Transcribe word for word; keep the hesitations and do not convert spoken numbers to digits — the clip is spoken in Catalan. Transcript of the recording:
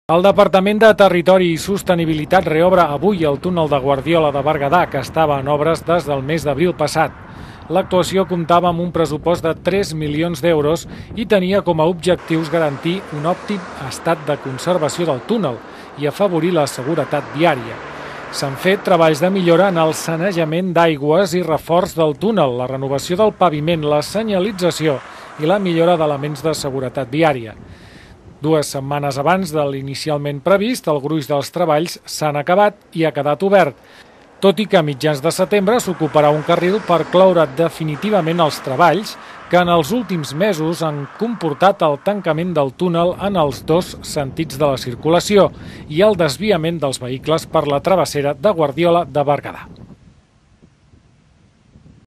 El Departament de Territori i Sostenibilitat reobre avui el túnel de Guardiola de Berguedà, que estava en obres des del mes d'abril passat. L'actuació comptava amb un pressupost de tres milions d'euros i tenia com a objectius garantir un òptim estat de conservació del túnel i afavorir la seguretat viària. S'han fet treballs de millora en el sanejament d'aigües i reforç del túnel, la renovació del paviment, la senyalització i la millora d'elements de seguretat viària. Dues setmanes abans de l'inicialment previst, el gruix dels treballs s'han acabat i ha quedat obert, tot i que a mitjans de setembre s'ocuparà un carril per cloure definitivament els treballs que en els últims mesos han comportat el tancament del túnel en els dos sentits de la circulació i el desviament dels vehicles per la travessera de Guardiola de Berguedà.